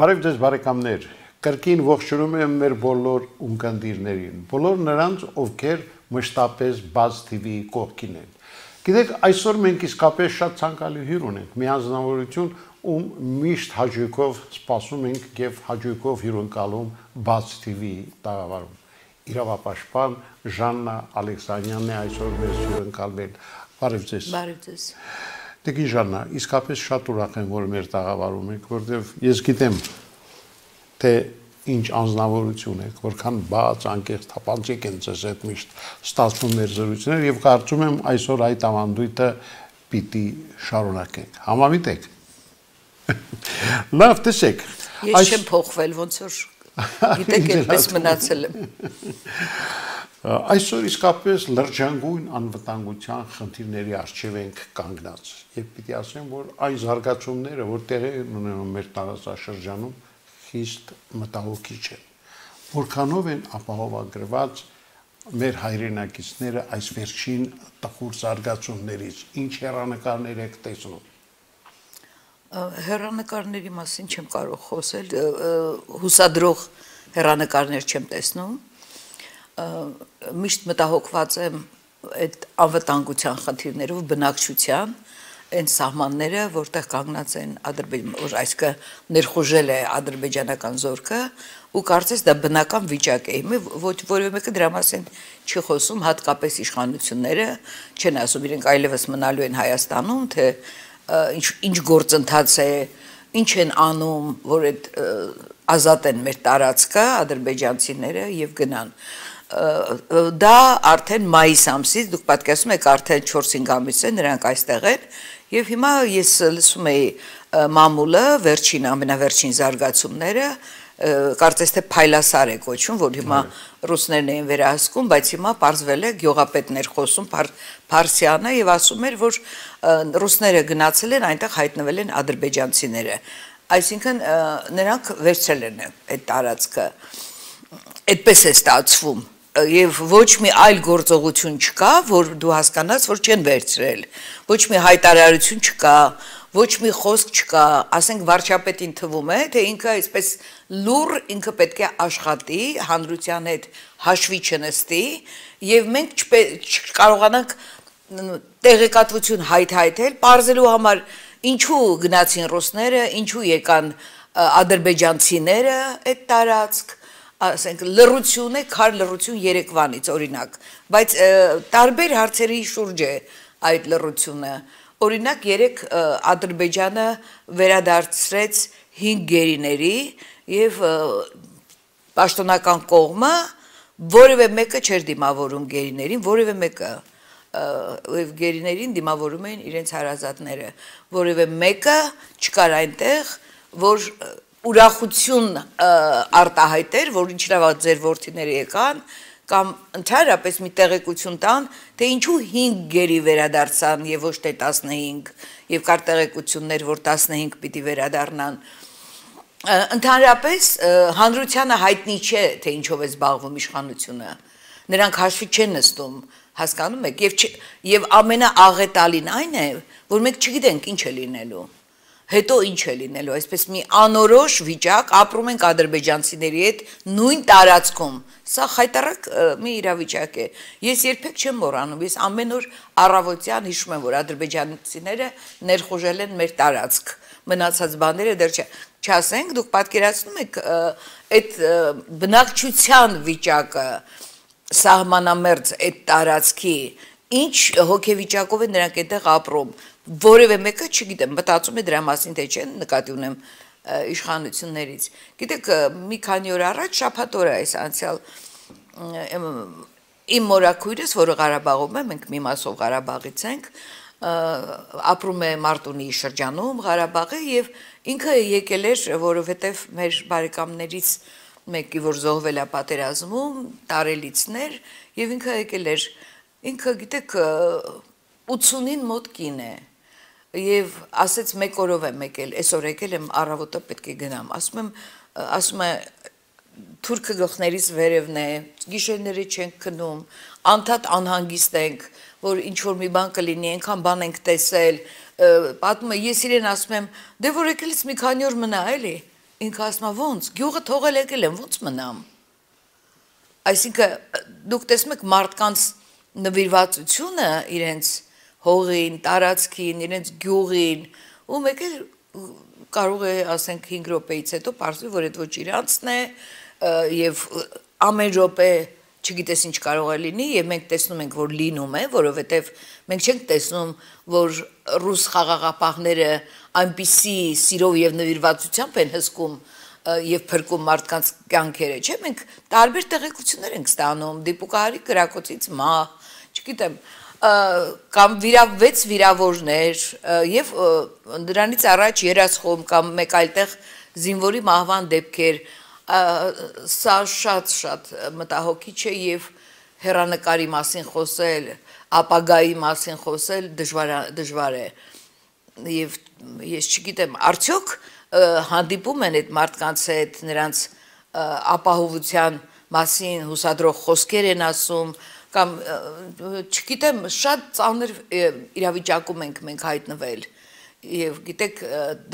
Բարև ձեզ բարեկամներ, կրկին ողջունում եմ մեր բոլոր ունկնդիրներին, բոլոր նրանց, ովքեր մշտապես Buzz TV-ի կողքին են։ Գիտեք, այսօր մենք իսկապես շատ ցանկալի հյուր ունենք, մի անձնավորություն, ում միշտ հաճույքով սպասում ենք եւ հաճույքով հյուրընկալում Buzz TV-ի տաղավարում։ Իրավապաշտպան Ժաննա Ալեքսանյանն է այսօր մեզ հյուրընկալվել։ Բարև ձեզ։ Բարև ձեզ։ Տիկին Ժաննա, իսկապես շատ ուրախ եմ, որ մեր տաղավարում եք, որտեղ ես գիտեմ, թե ինչ անձնավորություն եք, որքան բաց, անկեղծ, թափանցիկ են ձեզ հետ միշտ ստացվում մեր զրույցներ եւ կարծում եմ այսօր այդ ավանդույթը պիտի շարունակենք։ Համամիտ եք։ Լավ, տեսեք։ Ես չեմ փոխվել, ոնց որ գիտեք, այդպես մնացել եմ։ Այսօր իսկապես լրջանգույն անվտանգության խնդիրների առջև ենք կանգնած եւ պիտի ասեմ, որ այն զարգացումները, որ տեղի ունենում մեր տարածաշրջանում, խիստ մտահոգիչ են։ Որքանով են ապահովագրված մեր հայրենակիցները այս վերջին տխուր զարգացումներից, ինչ հեռանկարներ եք տեսնում։ Հեռանկարների մասին չեմ կարող խոսել, հուսադրող հեռանկարներ չեմ տեսնում։ Միշտ մտահոգված եմ այդ անվտանգության խնդիրներով, բնակչության, այն սահմանները, որտեղ կանգնած են որ այսինքն ներխուժել է ադրբեջանական զորքը, ու կարծես դա բնական վիճակ է։ Ոչ որևէ մեկը դրա մասին չի խոսում, հատկապես իշխանությունները չեն ասում, իրենք այլևս մնալու են Հայաստանում, թե ինչ գործընթաց է, ինչ են անում, որ այդ ազատեն մեր տարածքը ադրբեջանցիները եւ գնան։ Դա արդեն մայիս ամսից, դուք պատկերացնում եք, արդեն 4-5 ամիս է նրանք այստեղ են, եւ հիմա ես լսում էի մամուլը, ամենավերջին զարգացումները, կարծես թե փայլասար է կոչվում, որ հիմա ռուսներն էին վերահսկում, բայց հիմա պարզվել է գյուղապետներ խոսում Փարսյանը եւ ասում էր, որ ռուսները գնացել են, այնտեղ հայտնվել են ադրբեջանցիները, այսինքն նրանք վերցրել են այդ տարածքը, այդպես է ստացվում։ Եվ ոչ մի այլ գործողություն չկա, որ դու հասկանաս, որ չեն վերցրել, ոչ մի հայտարարություն չկա, ոչ մի խոսք չկա, ասենք վարչապետին թվում է, թե ինքը այսպես լուր, ինքը պետք է աշխատի, հանրության հետ հաշվի չնստի, եւ մենք չկարողանանք տեղեկատվություն հայթայթել, պարզելու համար ինչու գնացին ռուսները, ինչու եկան ադրբեջանցիները այդ տարածք, ասենք լռություն է, քար լռություն Երևանից օրինակ, բայց տարբեր հարցերի շուրջ է այդ լռությունը։ Օրինակ երեք Ադրբեջանը վերադարձրեց 5 գերիների եւ պաշտոնական կողմը որևէ մեկը չէր դիմավորում գերիներին, որևէ մեկը եւ գերիներին դիմավորում էին իրենց հարազատները, որևէ մեկը չկար այնտեղ, որ ուրախություն արտահայտեր, որ ինչ լավ ձեր որդիները եկան, կամ ընդհանրապես մի տեղեկություն տան, թե ինչու 5 գերի վերադարձան եւ ոչ թե 15, եւ կար տեղեկություններ, որ 15 պիտի վերադառնան։ Ընդհանրապես հանրությանը հայտնի չէ, թե ինչով է զբաղվում իշխանությունը։ Նրանք հաշվի չեն նստում, հասկանում եք, եւ ամենաաղետալին այն է, որ մենք չգիտենք ինչ է լինելու։ Հետո ինչ է լինելու, այսպես մի անորոշ վիճակ, ապրում ենք ադրբեջանցիների հետ նույն տարածքում, սա խայտառակ մի իրավիճակ է, ես երբեք չեմ մոռանում, ես ամեն օր առավոտյան հիշում եմ, որ ադրբեջանցիները ներխուժել են մեր տարածք, մնացած բաները դեռ չասենք, դուք պատկերացնում եք այդ բնակչության վիճակը, սահմանամերձ այդ տարածքի, ինչ հոգեվիճակով են նրանք այդտեղ ապրում, որևէ մեկը չգիտեմ, մտածում է դրա մասին, թե չեն նկատի ունեմ իշխանություններից։ Գիտեք, մի քանի օր առաջ շաբաթ օրը այս անցյալ իմ մորաքույրս, որը Ղարաբաղում է, մենք մի մասով Ղարաբաղից ենք, ապրում է Մարտունի շրջանում Ղարաբաղը եւ ինքը եկել էր, որովհետեւ մեր բարեկամներից մեկի, որ զոհվել է պատերազմում, տարելիցներ, եւ ինքը եկել էր, ինքը գիտեք 80-ին մոտ կին է։ Եվ ասեց մեկ օրով եմ եկել, այսօր եկել եմ առավոտը պետք է գնամ, ասում է թուրքը գլխներից վերևն է, գիշերները չենք քնում, անդադ անհանգիստ ենք, որ ինչ որ մի բան կլինի, այնքան բան ենք տեսել, պատմում է, ես իրեն ասում եմ, դե որ եկելից մի քանի օր մնա, էլի, ինքը ասում է ոնց, գյուղը թողել եկել եմ, ոնց մնամ։ Այսինքն դուք տեսնում եք մարդկանց նվիրվածությունը իրենց հողին, տարածքին, իրենց գյուղին, ու մեկ էլ կարող է ասենք 5 րոպեից հետո պարզվի, որ այդ ոչ իրանցն է եւ ամեն րոպե չգիտես ինչ կարող է լինի եւ մենք տեսնում ենք որ լինում է, որովհետեւ մենք չենք տեսնում որ ռուս խաղաղապահները այնպիսի սիրով եւ նվիրվածությամբ են հսկում եւ փրկում մարդկանց կյանքերը, չէ՞, մենք տարբեր տեղեկություններ ենք ստանում, դիպուկահարի կրակոցից մահ, չգիտեմ, կամ 6 վիրավորներ եւ դրանից առաջ երասխում կամ մեկ այլ տեղ զինվորի մահվան դեպքեր, սա շատ մտահոգիչ է եւ հերանեկարի մասին խոսել, ապագայի մասին խոսել դժվար է եւ ես չգիտեմ արդյոք հանդիպում են այդ մարդկանց հետ նրանց ապահովության մասին հուսադրող խոսքեր են ասում կամ չգիտեմ շատ ծանր իրավիճակում ենք մենք հայտնվել եւ գիտեք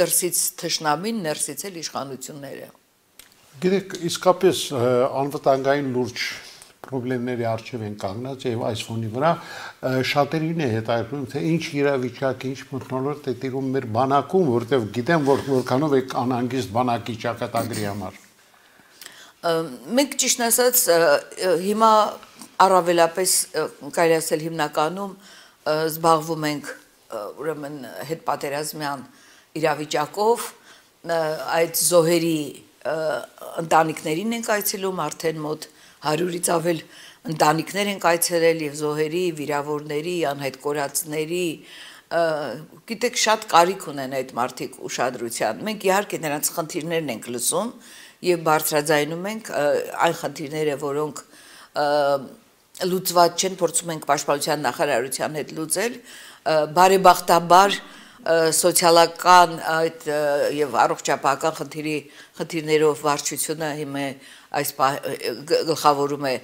դրսից թշնամին ներսից էլ իշխանությունները Գիտեք, իսկապես անվտանգային լուրջ խնդիրների առջև են կանգնած եւ այս ֆոնի վրա շատերին է հետաքրքրում թե ինչ իրավիճակ, ինչ մթնոլորտ է տիրում մեր բանակում, որտեղ գիտեմ որ որքանով է անհանգիստ բանակի ճակատագրի համար։ Մենք ճիշտ ասած հիմա առավելապես կարելի ասել հիմնականում զբաղվում ենք ուրեմն հետպատերազմյան իրավիճակով այդ զոհերի ընտանիքներին ենք այցելում արդեն մոտ 100-ից ավել ընտանիքներ ենք այցելել եւ զոհերի, վիրավորների, անհետ կորածների, գիտեք շատ կարիք ունեն այդ մարդիկ ուշադրության։ Մենք իհարկե նրանց խնդիրներն ենք լսում եւ բարձրաձայնում ենք այն խնդիրները, որոնք լուծված չեն, փորձում ենք պաշտպանության նախարարության հետ լուծել, բարեբախտաբար սոցիալական այդ եւ առողջապահական խնդիրներով վարչությունը հիմա այս գլխավորում է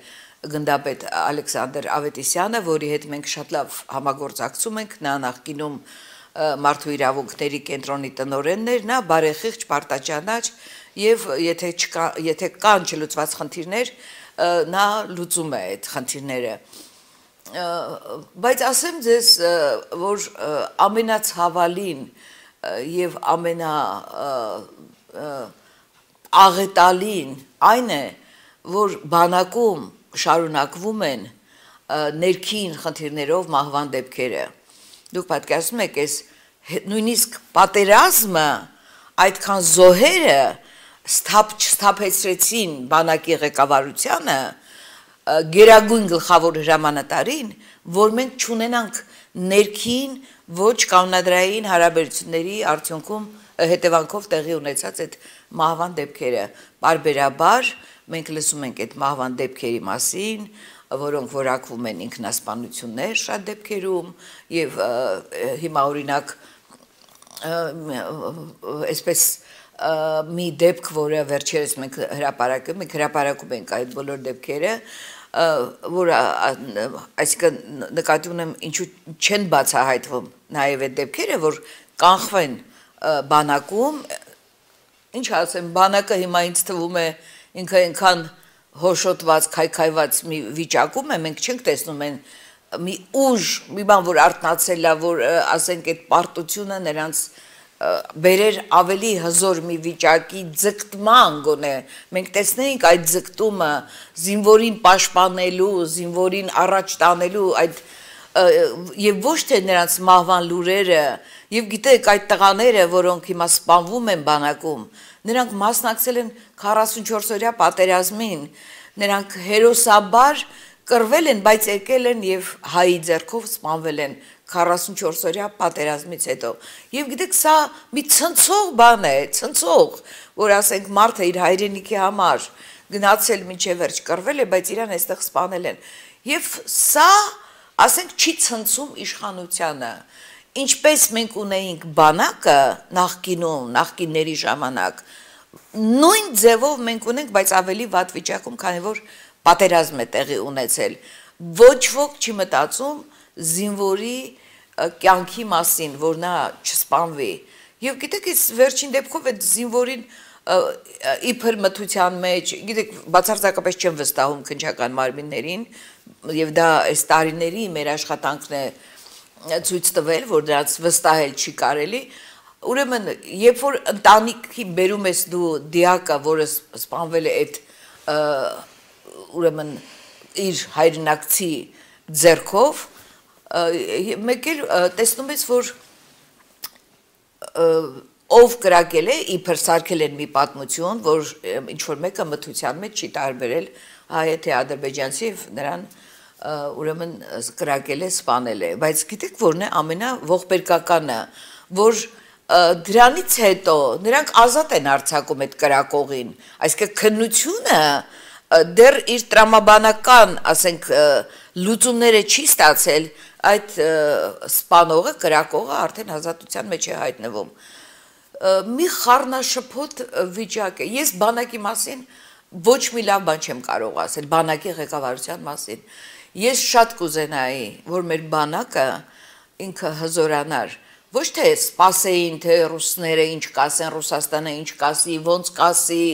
գնդապետ Ալեքսանդր Ավետիսյանը, որի հետ մենք շատ լավ համագործակցում ենք, նա նախկինում մարդու իրավունքների կենտրոնի տնօրենն էր, նա բարեխիղճ պարտաճանաչ եւ եթե կան չլուծված խնդիրներ, նա լուծում է այդ խնդիրները բայց ասեմ ձեզ որ ամենացավալին եւ աղետալին այն է որ բանակում շարունակվում են ներքին խնդիրներով մահվան դեպքերը դուք պատկերացնում եք այս նույնիսկ պատերազմը այդքան զոհերը չսթափեցրեցին բանակի ղեկավարությանը գերագույն գլխավոր հրամանատարին, որ մենք չունենանք ներքին ոչ կանոնադրային հարաբերությունների արդյունքում հետևանքով տեղի ունեցած այդ մահվան դեպքերը։ Բարբերաբար մենք լսում ենք այդ մահվան դեպքերի մասին, որոնք որակվում են ինքնասպանություններ շատ դեպքերում եւ հիմա օրինակ այսպես մի դեպք, որը վերջերս մենք հրապարակում ենք այդ բոլոր դեպքերը, որ այսինքն նկատի ունեմ ինչու չեն բացահայտվում նաև այդ դեպքերը, որ կանխվեն բանակում, ինչ ասեմ, բանակը հիմա ինձ թվում է ինքը այնքան հոշոտված, քայքայված մի վիճակում է, մենք չենք տեսնում են մի ուժ, մի բան, որ արթնացել է, որ ասենք այդ պարտությունը նրանց բերեր ավելի հզոր մի վիճակի ձգտման գոնե մենք տեսնենք այդ ձգտումը զինվորին պաշտպանելու զինվորին առաջ տանելու այդ եւ ոչ թե նրանց մահվան լուրերը եւ գիտեք այդ տղաները որոնք հիմա սպանվում են բանակում նրանք մասնակցել են 44-օրյա պատերազմին նրանք հերոսաբար կռվել են բայց եկել են եւ հայի ձեռքով սպանվել են 44-օրյա պատերազմից հետո եւ գիտեք սա մի ցնցող բան է ցնցող որ ասենք մարդը իր հայրենիքի համար գնացել մինչև վերջ կռվել է բայց իրան այստեղ սպանել են եւ սա ասենք չի ցնցում իշխանությանը ինչպես մենք ունեինք բանակը նախկինների ժամանակ նույն ձևով մենք ունենք բայց ավելի վատ վիճակում քանի որ պատերազմ է տեղի ունեցել ոչ ոք չի մտածում զինվորի կյանքի մասին, որ նա չսպանվի։ Եվ գիտեք, այս վերջին դեպքով այդ զինվորին իբր մթության մեջ, գիտեք, բացարձակապես չեմ վստահում քննչական մարմիններին, եւ դա այս տարիների մեր աշխատանքն է ցույց տվել, որ դրանց վստահել չի կարելի։ Ուրեմն, երբ որ ընտանիքի բերում ես դու դիակը, որը սպանվել է այդ ուրեմն իր հայրենակցի ձեռքով, մեկ էլ տեսնում ես, որ ով կրակել է, իբր սարքել են մի պատմություն, որ ինչ-որ մեկը մթության մեջ չի տարբերել հայ թե ադրբեջանցի եւ նրան ուրեմն կրակել է, սպանել է, բայց գիտեք որն է ամենաողբերգականը, որ դրանից հետո նրանք ազատ են արձակում այդ կրակողին, այսինքն քննությունը դեռ իր տրամաբանական, ասենք, լուծումները չի ստացել, այդ սպանողը, կրակողը արդեն ազատության մեջ է հայտնվում։ Մի խառնաշփոթ վիճակ է։ Ես բանակի մասին ոչ մի լավ բան չեմ կարող ասել, բանակի ղեկավարության մասին։ Ես շատ կուզենայի, որ մեր բանակը ինքը հզորանար, ոչ թե սպասեին, թե ռուսները ինչ կասեն, Ռուսաստանը ինչ կասի,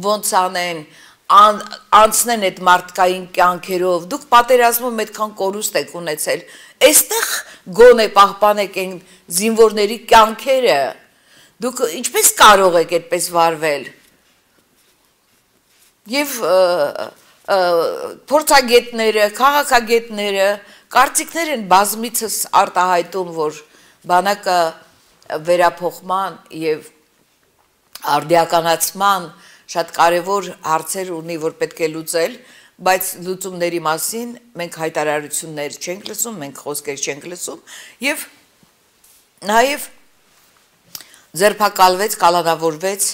ոնց անեն, անցնեն այդ մարդկային կյանքերով, դուք պատերազմում այդքան կորուստ եք ունեցել, այստեղ գոնե պահպանեք այն զինվորների կյանքերը, դուք ինչպես կարող եք այդպես վարվել։ Եվ փորձագետները, քաղաքագետները, կարծիքներ են բազմիցս արտահայտում, որ բանակը վերափոխման եւ արդիականացման շատ կարևոր հարցեր ունի, որ պետք է լուծել, բայց լուծումների մասին մենք հայտարարություններ չենք լսում, մենք խոսքեր չենք լսում եւ նաեւ ձերբակալվեց, կալանավորվեց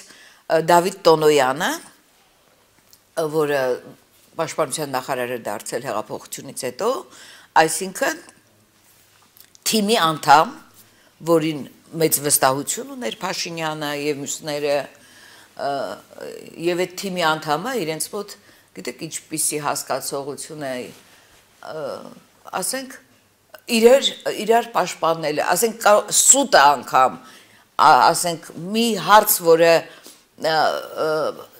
Դավիթ Տոնոյանը, որը պաշտպանության նախարար է դարձել հեղափոխությունից հետո, այսինքն թիմի անդամ, որին մեծ վստահություն ուներ Փաշինյանը եւ մյուսները, եւ այդ թիմի անդամը իրենց մոտ, գիտեք, ինչպիսի հասկացողություն է, ասենք, իրար պաշտպանել, ասենք, սուտը անգամ, ասենք, մի հարց, որը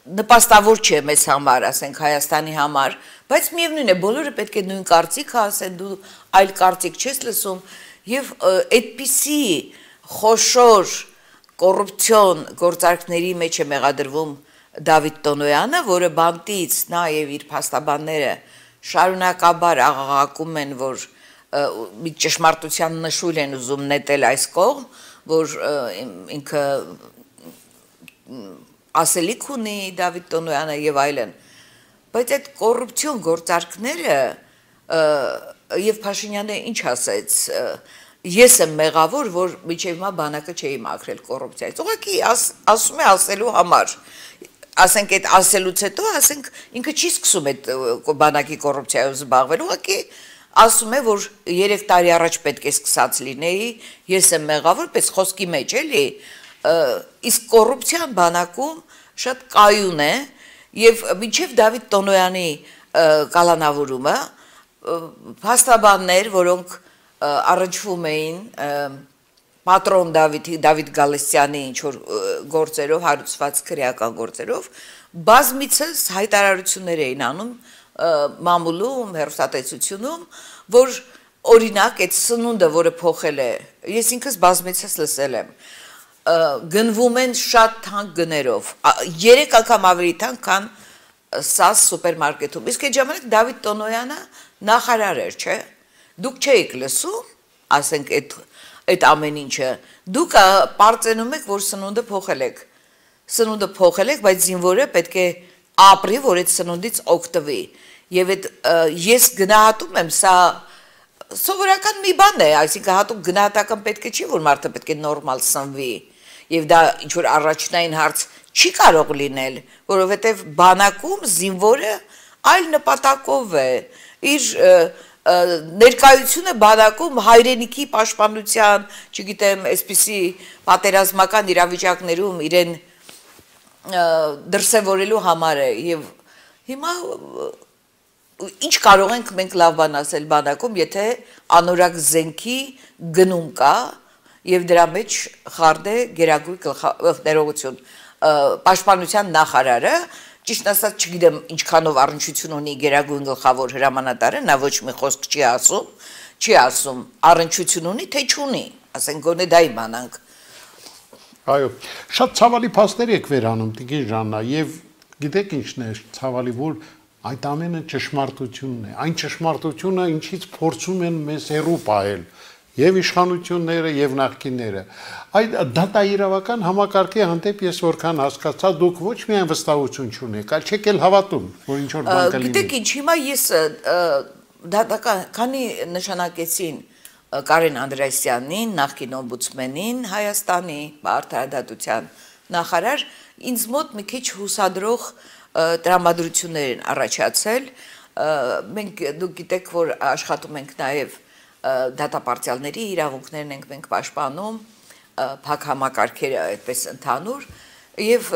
նպաստավոր չէ մեզ համար, ասենք Հայաստանի համար, բայց միևնույն է, բոլորը պետք է նույն կարծիքը ասեն, դու այլ կարծիք չես լսում, եւ այդպիսի խոշոր կոռուպցիոն գործարքների մեջ է մեղադրվում Դավիթ Տոնոյանը, որը բանտից նա եւ իր փաստաբանները շարունակաբար աղաղակում են, որ մի ճշմարտության նշույլ են ուզում նետել այս կողմ, որ ինքը ասելիք ունի Դավիթ Տոնոյանը եւ այլն, բայց այդ կոռուպցիոն գործարքները եւ Փաշինյանը ինչ ասեց, ես եմ մեղավոր, որ միջև հիմա բանակը չէի մաքրել կոռուպցիայից, ուղղակի ասում է ասելու համար, ասենք այդ ասելուց հետո, ասենք ինքը չի սկսում այդ բանակի կոռուպցիայով զբաղվել, ուղղակի ասում է, որ 3 տարի առաջ պետք է սկսած լինեի, ես եմ մեղավոր, պես խոսքի մեջ էլի, իսկ կոռուպցիան բանակում շատ կայուն է եւ մինչեւ Դավիթ Տոնոյանի կալանավորումը փաստաբաններ, որոնք առնչվում էին պատրոն Դավիթ Գալստյանի ինչ որ գործերով, հարուցված քրեական գործերով, բազմիցս հայտարարություններ էին անում մամուլում, հեռուստատեսությունում, որ օրինակ այդ սնունդը, որը փոխել է, ես ինքս բազմիցս լսել եմ, գնվում են շատ թանկ գներով, 3 անգամ ավելի թանկ, քան SAS սուպերմարկետում, իսկ այդ ժամանակ Դավիթ Տոնոյանը նախարար էր, չէ, դուք չէիք լսում, ասենք այդ ամեն ինչը, դուք պարծենում եք, որ սնունդը փոխել եք, բայց զինվորը պետք է ապրի, որ այդ սնունդից օգտվի, եւ այդ ես գնահատում եմ, սա սովորական մի բան է, այսինքն հատուկ գնահատական պետք է չի, որ մարդը պետք է նորմալ սնվի, եւ դա ինչ-որ առաջնային հարց չի կարող լինել, որովհետեւ բանակում զինվորը այլ նպատակով է, իր ներկայությունը բանակում հայրենիքի պաշտպանության, չգիտեմ, այսպիսի պատերազմական իրավիճակներում իրեն դրսևորելու համար է եւ հիմա ինչ կարող ենք մենք լավ բան ասել բանակում, եթե անորակ զենքի գնում կա եւ դրա մեջ խարդ է գերագույն ներողություն պաշտպանության նախարարը, ճիշտ ասած չգիտեմ ինչքանով առնչություն ունի գերագույն գլխավոր հրամանատարը, նա ոչ մի խոսք չի ասում, առնչություն ունի, թե չունի, ասենք գոնե դա իմանանք։ Այո, շատ ցավալի փաստեր եք վերանում Տիկին Ժաննա, եւ գիտեք ինչն է ցավալի, որ այդ ամենը ճշմարտությունն է, այն ճշմարտությունը, ինչից փորձում են մեզ հեռու պահել եւ իշխանությունները եւ նախկինները։ Այդ դատաիրավական համակարգի հանդեպ ես որքան հասկացա, դուք ոչ միայն վստահություն չունեք, այլ չեք էլ հավատում, որ ինչ որ բան կլինի։ Գիտեք ինչ, հիմա ես քանի նշանակեցին Կարեն Անդրեասյանին, նախկին օմբուդսմենին Հայաստանի արդարադատության նախարար, ինձ մոտ մի քիչ հուսադրող տրամադրություններ են առաջացել։ Մենք դուք գիտեք, որ աշխատում ենք նաև դատապարտյալների իրավունքներն ենք մենք պաշտպանում, փակ համակարգերը այդպես ընդհանուր, եւ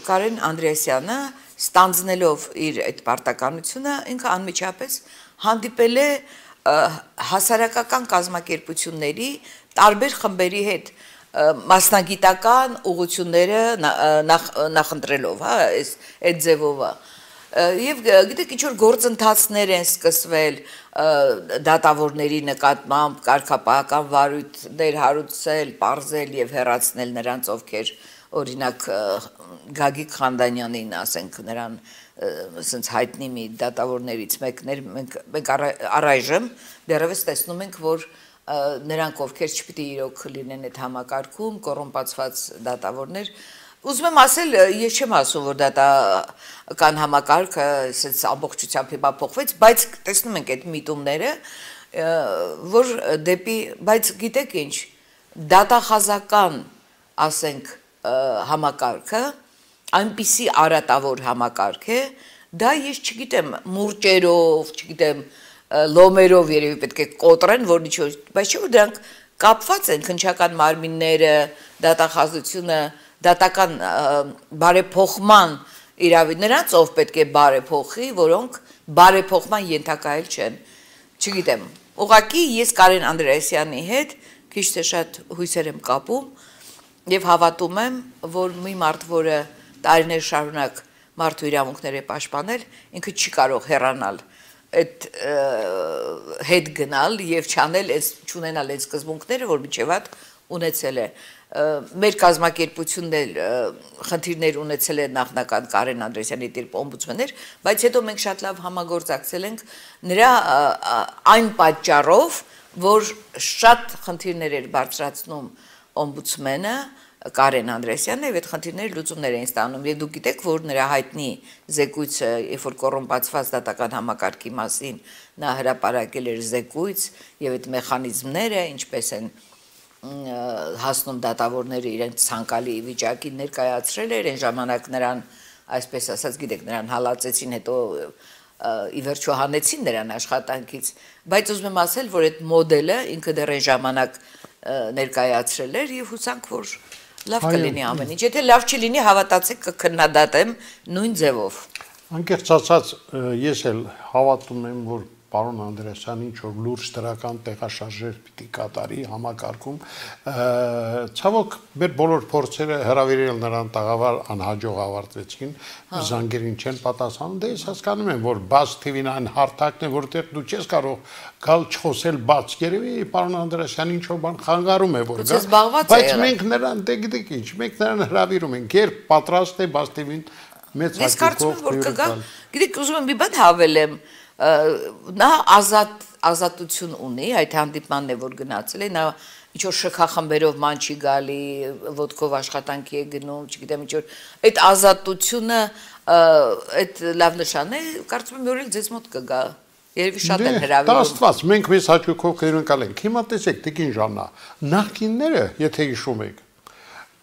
Կարեն Անդրեասյանը ստանձնելով իր այդ պարտականությունը ինքը անմիջապես հանդիպել է հասարակական կազմակերպությունների տարբեր խմբերի հետ մասնագիտական ուղղությունները նախընտրելով, հա, այդ ձևով Եվ գիտեք ինչ որ գործընթացներ են սկսվել դատավորների նկատմամբ կարգապահական վարույթներ հարուցել, պարզել եւ հեռացնել նրանց, ովքեր օրինակ Գագիկ Խանդանյանին, ասենք, նրան ասենց հայտնի մի դատավորներից մեկներ, մենք առայժմ դեռևս տեսնում ենք, որ նրանք ովքեր չպիտի իրոք լինեն այդ համակարգում, կոռումպացված դատավորներ Ուզում եմ ասել, ես չեմ ասում, որ դատական համակարգը ամբողջությամբ հիմա փոխվեց, բայց տեսնում ենք այդ միտումները, որ դեպի, բայց գիտեք ինչ, դատախազական, ասենք, համակարգը, այնպիսի արատավոր համակարգ է, դա ես չգիտեմ, մուրճերով, չգիտեմ, լոմերով երևի պետք է կոտրեն, որ ինչ-որ, բայց չէ որ դրանք կապված են քննչական մարմինները, դատախազությունը դատական բարեփոխման իրավի նրանց ով պետք է բարեփոխի, որոնք բարեփոխման ենթակայել չեն։ Չգիտեմ, ուղղակի ես Կարեն Անդրեասյանի հետ քիչ թե շատ հույսեր եմ կապում եւ հավատում եմ, որ մի մարդ, որը տարիներ շարունակ մարդու իրավունքներ է պաշտպանել, ինքը չի կարող հեռանալ այդ հետ գնալ եւ չանել այս չունենալ այս սկզբունքները, որ միջև այդ ունեցել է մեր կազմակերպությունն էլ խնդիրներ ունեցել է նախնական Կարեն Անդրեասյանի դեպի օմբուդսմեններ, բայց հետո մենք շատ լավ համագործակցել ենք նրա այն պատճառով, որ շատ խնդիրներ էր բարձրացնում օմբուդսմենը Կարեն Անդրեասյանն եւ այդ խնդիրները լուծումներ էին ստանում եւ դուք գիտեք, որ նրա հայտնի զեկույցը, երբ որ կոռումպացված դատական համակարգի մասին նա հրապարակել էր զեկույց եւ այդ մեխանիզմները ինչպես են հասնում դատավորները իրենց ցանկալի վիճակի ներկայացրել էր այն ժամանակ նրան այսպես ասած գիտեք նրան հալածեցին հետո ի վերջո հանեցին նրան աշխատանքից բայց ուզում եմ ասել որ այդ մոդելը ինքը դեռ այն ժամանակ ներկայացրել էր եւ հուսանք որ լավ կլինի ամեն ինչ եթե լավ չլինի հավատացեք կքննադատեմ նույն ձևով անկեղծ ասած ես էլ հավատում եմ որ Պարոն Անդրեասյանը ինչ որ լուրջ դրական տեղաշարժեր պիտի կատարի համակարգում ցավոք մեր բոլոր փորձերը հրավիրել նրան տաղավար անհաջող ավարտվեցին զանգերին չեն պատասխանում դե ես հասկանում եմ որ բաց TV-ն այն հարթակն է որտեղ դու չես կարող գալ չխոսել բաց երևի պարոն Անդրեասյանը ինչ որ բան խանգարում է որ բայց մենք նրան դե գիտեք ինչ մենք նրան հրավիրում ենք երբ պատրաստ է բաց TV-ն մեծ հաշվով գիտեք ուզում եմ մի բան հավելեմ նա ազատություն ունի այդ հանդիպմանն է որ գնացել է նա ինչ որ շքախմբերով ման չի գալի ոդկով աշխատանքի է գնում չգիտեմ ինչ որ այդ ազատությունը այդ լավ նշան է կարծում եմ որ ձեզ մոտ կգա երևի շատ են հրավիրում դա աստված մենք մեզ հաճույքով կհյուրընկալ ենք հիմա տեսեք Տիկին Ժաննա նախկինները եթե հիշում եք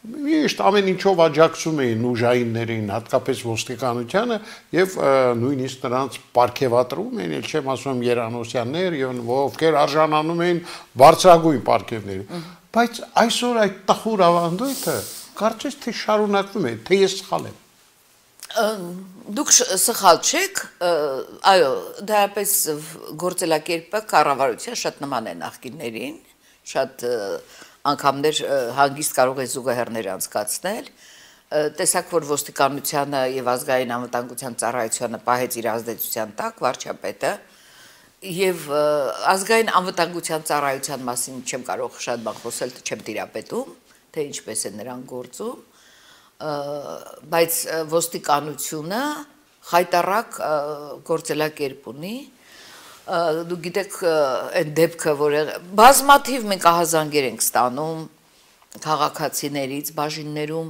Միշտ ամեն ինչով աջակցում էին ուժայիններին, հատկապես ոստիկանությանը եւ նույնիսկ նրանց պարգևատրում էին, ել չեմ ասում Երանոսյաններ եւ ովքեր արժանանում էին բարձրագույն պարգևների։ Բայց այսօր այդ տխուր ավանդույթը կարծես թե շարունակվում է, թե ես սխալ եմ։ Դուք սխալ չեք, այո, դրապես գործելակերպը կառավարության շատ նման է նախկիններին, շատ անգամներ հանգիստ կարող է զուգահեռներ անցկացնել տեսակ որ ոստիկանությանը եւ ազգային անվտանգության ծառայությանը պահեց իր ազդեցության տակ վարչապետը եւ ազգային անվտանգության ծառայության մասին չեմ կարող շատ բան խոսել, չեմ տիրապետում, թե ինչպես է նրանք գործում, բայց ոստիկանությունը խայտարակ գործելակերպ ունի, դու գիտեք այդ դեպքը, որ բազմաթիվ մենք ահազանգեր ենք ստանում քաղաքացիներից, բաժիններում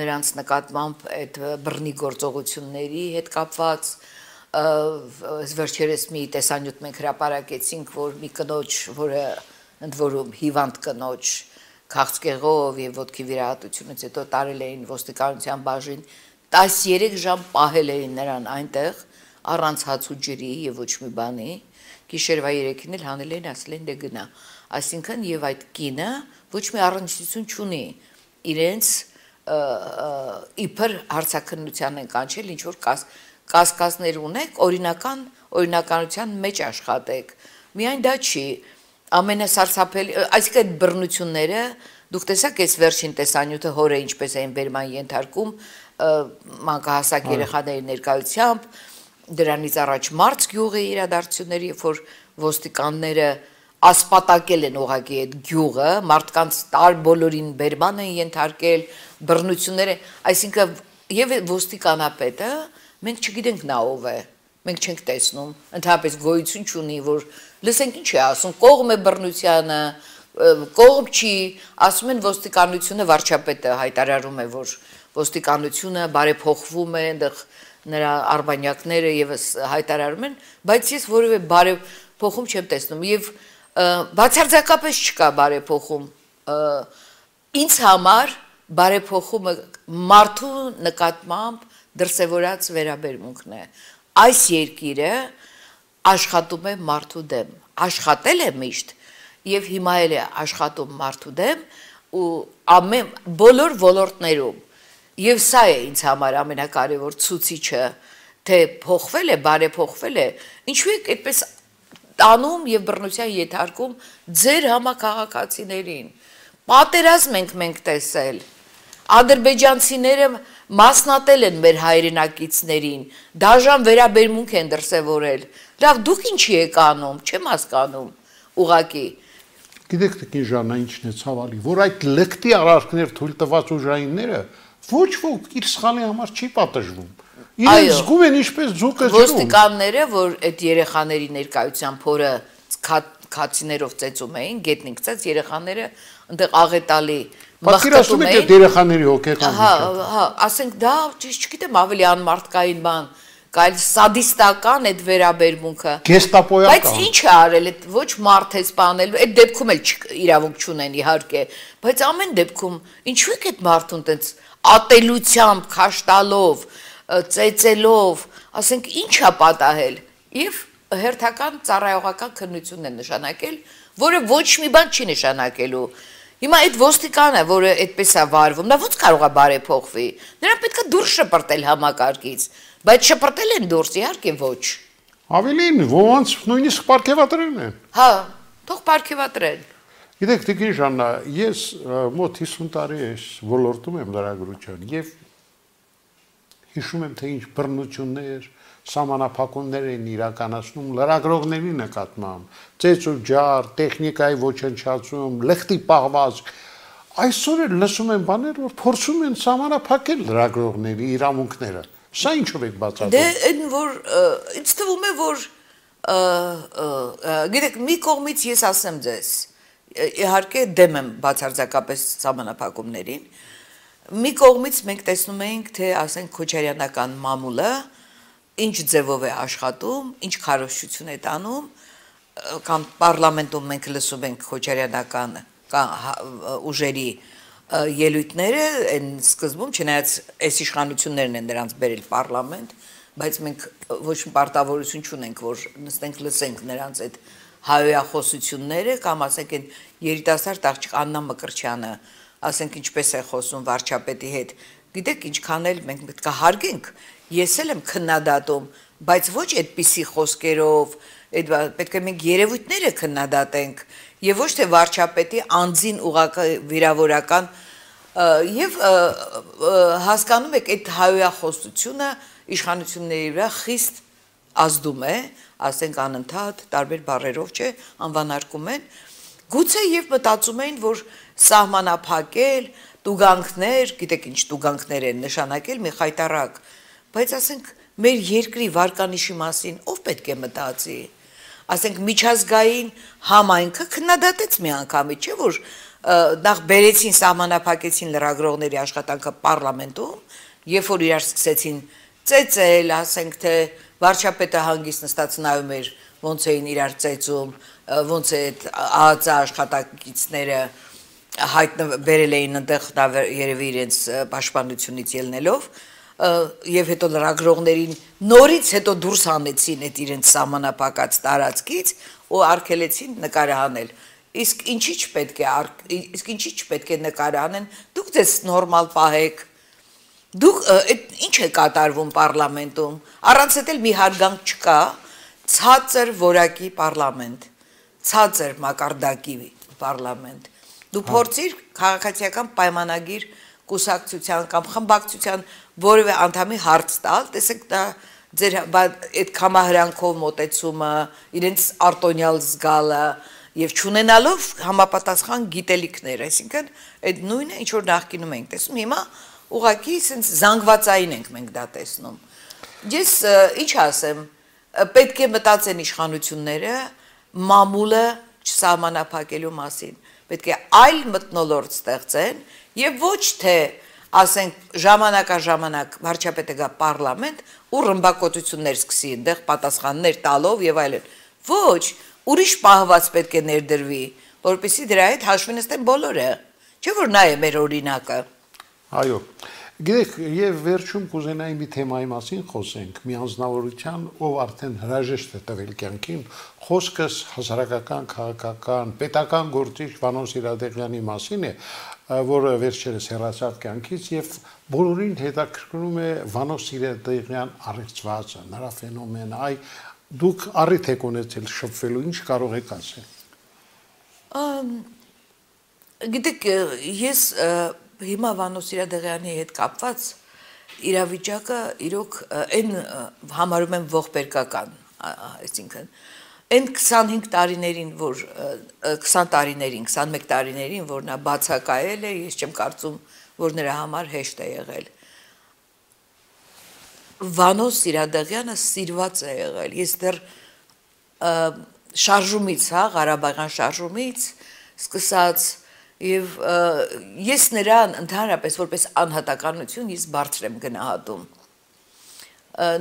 նրանց նկատմամբ այդ բռնի գործողությունների հետ կապված, վերջերս մի տեսանյութ մենք հրապարակեցինք, որ մի կնոջ, որը ընդ որում հիվանդ կնոջ քաղցկեղով եւ ոտքի վիրահատությունից հետո տարել էին ոստիկանության բաժին 13 ժամ պահել էին նրան այնտեղ առանց հաց ու ջրի եւ ոչ մի բանի գիշերվա 3-ին էլ հանել էին ասել են դե գնա այսինքն եւ այդ կինը ոչ մի առնչություն չունի իրենց իբր հարցակնության են կանչել ինչ որ կասկածներ ունեք օրինականության մեջ աշխատեք միայն դա չի ամենասարսափելի այսինքն այդ բռնությունները դուք տեսաք այս վերջին տեսանյութը հորը ինչպես էին բերման ենթարկում մանկահասակ երեխաների ներկայությամբ դրանից առաջ մարց գյուղի իրադարձությունների երբ որ ոստիկանները ասպատակել են ուղղակի այդ գյուղը մարդկանց բոլորին բերման են ենթարկել բռնությունները այսինքն եւ ոստիկանապետը մենք չգիտենք նա ով է մենք չենք տեսնում ընդհանրապես գոյություն չունի որ լսենք ինչ է ասում կողմ է բռնությանը կողմ չի ասում են ոստիկանությունը վարչապետը հայտարարում է որ ոստիկանությունը բարեփոխվում է այնտեղ նրա արբանյակները եւս հայտարարում են բայց ես որևէ բարեփոխում չեմ տեսնում եւ բացարձակապես չկա բարեփոխում ինձ համար բարեփոխումը մարդու նկատմամբ դրսևորած վերաբերմունքն է այս երկիրը աշխատում է մարդու դեմ աշխատել է միշտ եւ հիմա էլ է աշխատում մարդու դեմ ու ամեն բոլոր ոլորտներում եւ սա է ինձ համար ամենակարևոր ցուցիչը թե փոխվել է բարեփոխվել է ինչու եք այդպես տանում եւ բռնության ենթարկում ձեր համակարգացիներին պատերազմ ենք մենք տեսել ադրբեջանցիները մասնատել են մեր հայրենակիցներին դաժան վերաբերմունք են դրսևորել լավ դուք ինչի եք անում չեմ հասկանում ուղակի գիտեք թե Ժաննա ինչն է ցավալի որ այդ լկտի արարքներ թույլ տված ուժայինները ոչ ոք իր սխալի համար չի պատժվում իրենց զգում են ինչպես ձուկը ջրում ոստիկանները որ այդ երեխաների ներկայությամբ փորը քացիներով ծեծում էին գետնին գցած երեխաները այնտեղ աղետալի մխտում էին այդ երեխաների հոգեկան հա ասենք դա չգիտեմ ավելի անմարդկային բան կայլ սադիստական այդ վերաբերմունքը գեստապոյական բայց ինչ է արել այդ ոչ մարդ է սպանել այդ դեպքում էլ իրավունք չունեն իհարկե բայց ամեն դեպքում ինչու է այդ մարդուն տենց ատելությամբ քաշտալով ծեծելով ասենք ինչ է պատահել եւ հերթական ծառայողական քննություն է նշանակել որը ոչ մի բան չի նշանակելու հիմա այդ ոստիկանը որը այդպես է վարվում նա ո՞նց կարող է բարեփոխվի նրան պետք է դուրս շպրտել համակարգից բայց շպրտել են դուրս իհարկե ոչ ավելին ոնց նույնիսկ պարգևատրեն են հա թող պարգևատրեն գիտեք Տիկին Ժաննա ես մոտ 50 տարի է ոլորտում եմ լրագրության եւ հիշում եմ թե ինչ բռնություններ սահմանափակումներ են իրականացնում լրագրողների նկատմամբ ծեծ ու ջար տեխնիկայի ոչնչացում լխտի պահված այսօր էլ լսում են բաներ որ փորձում են սահմանափակել լրագրողների իրավունքները սա ինչով եք բացատրում դե այն որ ինձ թվում է որ գիտեք մի կողմից ես ասեմ ձեզ իհարկե դեմ եմ բացարձակապես սահմանափակումներին մի կողմից մենք տեսնում ենք թե ասենք քոչարյանական մամուլը ինչ ձևով է աշխատում, ինչ քարոզչություն է տանում, կամ պարլամենտում մենք լսում ենք քոչարյանական ուժերի ելույթները, այն սկզբում չնայած այս իշխանություններն են նրանց բերել պարլամենտ, բայց մենք ոչ մի պարտավորություն չունենք, որ նստենք լսենք նրանց այդ հայոյախոսությունները, կամ ասենք այն երիտասարդ աղջիկ Աննա Մկրտչյանը, ասենք ինչպես է խոսում վարչապետի հետ, գիտեք ինչքան էլ մենք պետք է հարգենք Ես էլ եմ քննադատում, բայց ոչ այդպիսի խոսքերով, պետք է մենք երևույթները քննադատենք, եւ ոչ թե վարչապետի անձին ուղղակի վիրավորական Եվ հասկանում եք այդ հայոյախոսությունը իշխանությունների վրա խիստ ազդում է, ասենք անընդհատ տարբեր բառերով չէ, անվանարկում են, գուցե եւ մտածում էին, որ սահմանափակել, տուգանքներ, գիտեք ինչ տուգանքներ են նշանակել, մի խայտարակ, բայց ասենք մեր երկրի վարկանիշի մասին ով պետք է մտածի, ասենք միջազգային համայնքը քննադատեց մի անգամից, չէ՞ որ նախ բերեցին սահմանափակեցին լրագրողների աշխատանքը պարլամենտում, երբ որ իրար սկսեցին ծեծել, ասենք թե վարչապետը հանգիստ նստած նայում էր, ոնց էին իրար ծեծում, ոնց է ԱԱԾ աշխատակիցները հայտնաբերել էին այնտեղ երևի իրենց պաշտպանությունից ելնելով, եւ հետո լրագրողներին նորից հետո դուրս հանեցին այդ իրենց սահմանափակած տարածքից ու արգելեցին նկարահանել։ Իսկ ինչի՞ չպետք է նկարահանեն, դուք ձեզ նորմալ պահեք, դուք ինչ է կատարվում պարլամենտում, առանց այդ էլ մի հարգանք չկա, ցածր որակի պարլամենտ, ցածր մակարդակի պարլամենտ, դու փորձիր քաղաքացիական պայմանագիր կուսակցության կամ խմբակցության որևէ անդամի հարց տալ, տեսեք դա ձեր այդ կամահրանքով մոտեցումը, իրենց արտոնյալ զգալը եւ չունենալով համապատասխան գիտելիքներ, այսինքն այդ նույնը ինչ որ նախկինում ենք տեսնում, հիմա ուղղակի sense զանգվածային ենք մենք դա տեսնում։ Ես ինչ ասեմ, պետք է մտածեն իշխանությունները մամուլը չսահմանափակելու մասին, պետք է այլ մթնոլորտ ստեղծեն եւ ոչ թե ասենք ժամանակաժամանակ վարչապետը գա պարլամենտ ու ռմբակոծություններ սկսի այնտեղ պատասխաններ տալով եւ այլն։ Ոչ, ուրիշ պահված պետք է ներդրվի, որպեսզի դրա հետ հաշվի նստեն բոլորը։ Չէ՞ որ նա է մեր օրինակը։ Այո։ Գիտեք, եւ վերջում կուզենայի մի թեմայի մասին խոսենք, մի անձնավորության, ով արդեն հրաժեշտ է տվել կյանքին, խոսքս հասարակական, քաղաքական, պետական գործիչ Վանո Սիրադեղյանի մասին է, որը վերջերս հեռացավ կյանքից եւ բոլորին հետաքրքրում է Վանո Սիրադեղյան առեղծվածը, նրա ֆենոմենը, այ դուք առիթ եք ունեցել շփվելու, ինչ կարող եք ասել։ Գիտեք, ես հիմա Վանո Սիրադեղյանի հետ կապված իրավիճակը իրոք այն համարում եմ ողբերգական, այսինքն այն 25 տարիներին, որ 20 տարիներին, 21 տարիներին, որ նա բացակայել է, ես չեմ կարծում, որ նրա համար հեշտ է եղել։ Վանո Սիրադեղյանը սիրված է եղել։ Ես դեռ շարժումից, Ղարաբաղյան շարժումից սկսած եւ ես նրան ընդհանրապես որպես անհատականություն ես բարձր եմ գնահատում։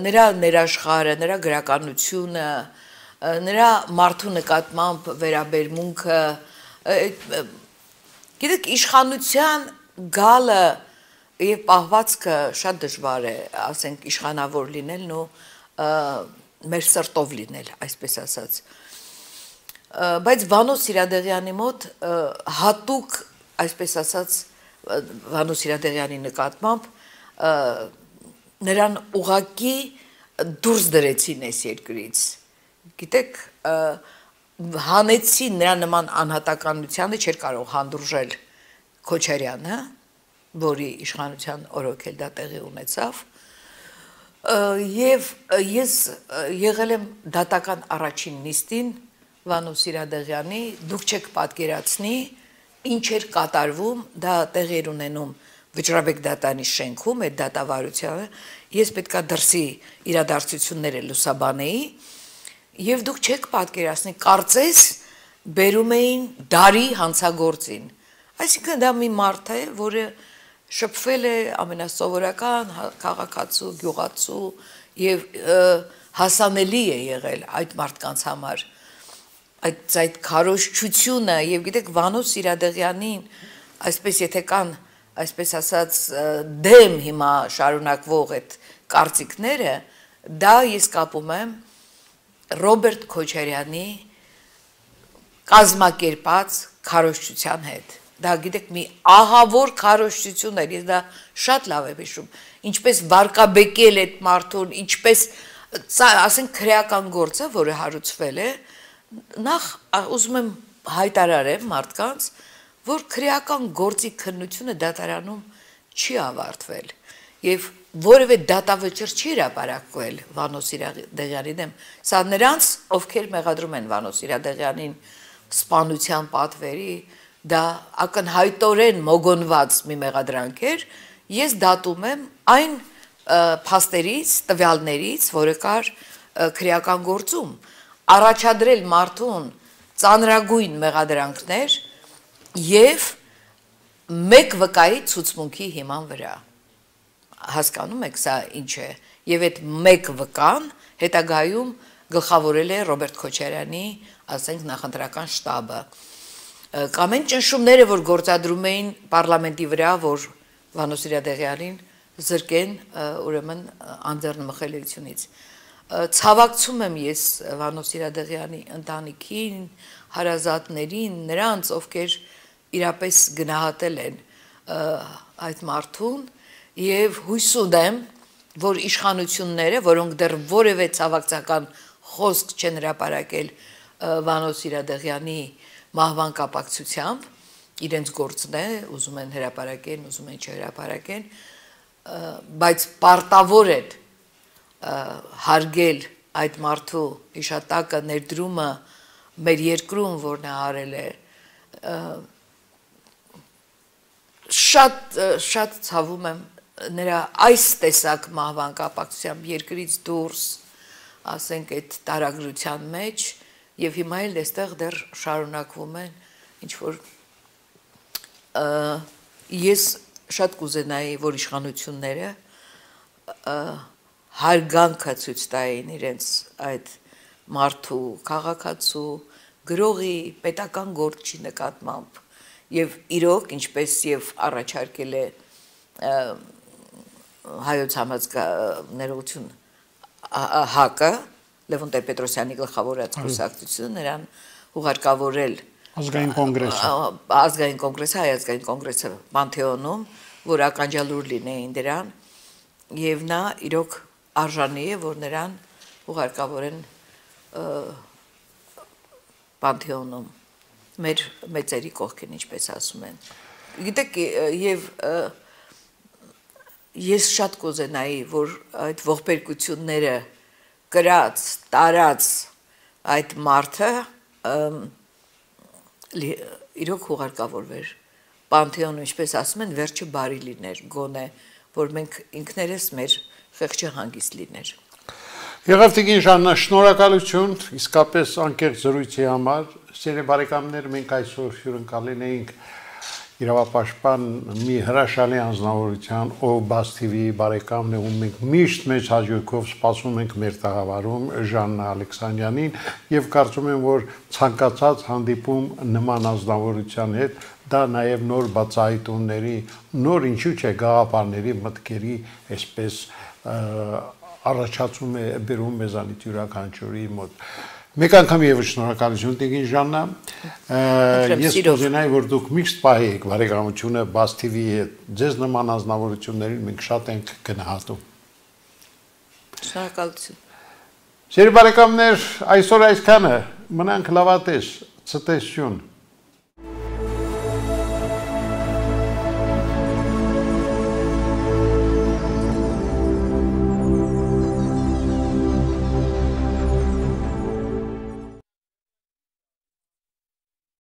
Նրա ներաշխարը, նրա գրականությունը, նրա մարդու նկատմամբ վերաբերմունքը, գիտեք, իշխանության գալը եւ պահվածքը շատ դժվար է, ասենք իշխանավոր լինելն ու մեր սրտով լինել, այսպես ասած։ Բայց Վանո Սիրադեղյանի մոտ հատուկ, այսպես ասած, Վանո Սիրադեղյանի նկատմամբ նրան ուղակի դուրս դրեցին այս երկրից։ Գիտեք, հանեցին նրա նման անհատականությանը չէր կարող հանդուրժել Քոչարյանը, որի իշխանության օրոք էլ դա տեղի ունեցավ, եւ ես եղել եմ դատական առաջին նիստին Վանո Սիրադեղյանի, դուք չեք պատկերացնի, ինչ էր կատարվում, դա տեղի էր ունենում Վճռաբեկ դատանի շենքում, այդ դատավարությանը, ես պետքա դրսի իրադարձությունները լուսաբանեի, եւ դուք չեք պատկերացնի, կարծես բերում էին դարի հանցագործին։ Այսինքն դա մի մարդ է, որը շփվել է ամենասովորական քաղաքացու, գյուղացու եւ հասանելի է եղել այդ մարդկանց համար։ Այդ քարոզչությունը եւ գիտեք Վանո Սիրադեղյանին, այսպես եթե կան, այսպես ասած դեմ հիմա շարունակվող այդ կարծիքները, դա ես կապում եմ Ռոբերտ Քոչարյանի կազմակերպած քարոզչության հետ։ Դա գիտեք մի ահավոր քարոզչություն էր, ես դա շատ լավ եմ հիշում, ինչպես վարկաբեկել այդ մարդուն, ինչպես ասենք քրեական գործը, որը հարուցվել է, նախ ուզում եմ հայտարարեմ մարդկանց, որ քրեական գործի քննությունը դատարանում չի ավարտվել եւ որևէ դատավճիռ չի հրապարակվել Վանո Սիրադեղյանի դեմ, սա նրանց, ովքեր մեղադրում են Վանո Սիրադեղյանին սպանության պատվերի, դա ակնհայտորեն մոգոնված մի մեղադրանք էր, ես դատում եմ այն փաստերից, տվյալներից, որը կար քրեական գործում, առաջադրել մարդուն ծանրագույն մեղադրանքներ եւ մեկ վկայի ցուցմունքի հիման վրա։ Հասկանում եք սա ինչ է, եւ այդ մեկ վկան հետագայում գլխավորել է Ռոբերտ Քոչարյանի, ասենք, նախընտրական շտաբը։ Կամ այն ճնշումները, որ գործադրում էին պարլամենտի վրա, որ Վանո Սիրադեղյանին զրկեն ուրեմն անձեռնմխելիությունից։ Ցավակցում եմ ես Վանո Սիրադեղյանի ընտանիքին, հարազատներին, նրանց, ովքեր իրապես գնահատել են այդ մարդուն եւ հույս ունեմ, որ իշխանությունները, որոնք դեռ որևէ ցավակցական խոսք չեն հրապարակել Վանո Սիրադեղյանի մահվան կապակցությամբ, իրենց գործն է, ուզում են հրապարակեն, ուզում են չհրապարակեն, բայց պարտավոր են հարգել այդ մարդու հիշատակը, ներդրումը մեր երկրում, որ նա արել է, շատ ցավում եմ նրա այս տեսակ մահվան կապակցությամբ երկրից դուրս, ասենք, այդ տարագրության մեջ, եւ հիմա էլ այստեղ դեռ շարունակվում են ինչ որ ես շատ կուզենայի, որ իշխանությունները հարգանքը ցույց տային իրենց այդ մարդու քաղաքացու գրողի պետական գործի նկատմամբ եւ իրոք, ինչպես եւ առաջարկել է հայոց համազգայնություն ՀԱԿ-ը, Լևոն Տեր-Պետրոսյանի գլխավորած կուսակցությունը, նրան ուղարկավորել ազգային կոնգրեսը, հայ ազգային կոնգրեսը Պանթեոնում, որ ականջալուր լինեին դրան, եւ նա իրոք արժանի է, որ նրան ուղարկավորեն Պանթեոնում, մեր մեծերի կողքին, ինչպես ասում են։ Գիտեք, եւ ես շատ կուզենայի, որ այդ ողբերգությունները կրած, տարած այդ մարդը իրոք ուղարկավորվեր Պանթեոն, ինչպես ասում են, վերջը բարի լիներ, գոնե, որ մենք ինքներս մեր խեղճը հանգիստ լիներ։ Եղավ տիկին Ժաննա, շնորհակալություն, իսկապես անկեղծ զրույցի համար, սիրելի բարեկամներ, մենք այսօր հյուրընկալել էինք իրավապաշտպան մի հրաշալի անձնավորության, ով Բաց TV-ի բարեկամն է, ում մենք միշտ մեծ հաճույքով սպասում ենք մեր տաղավարում, Ժաննա Ալեքսանյանին, եւ կարծում եմ, որ ցանկացած հանդիպում նման անձնավորության հետ դա նաեւ նոր բացահայտումների, նոր ինչու՞ չէ գաղափարների, մտքերի, այսպես առաջացում է բերում մեզանից յուրաքանչյուրի մոտ։ Մեկ անգամ եւս շնորհակալություն տիկին Ժաննա, ես կուզենայի, որ դուք միշտ պահեիք բարեկամությունը Բաց TV-ի հետ, ձեզ նման անձնավորություններին մենք շատ ենք գնահատում։ Շնորհակալություն։ Սիրելի բարեկամներ, այսօր այսքանը, մնանք լավատես, ցտեսություն։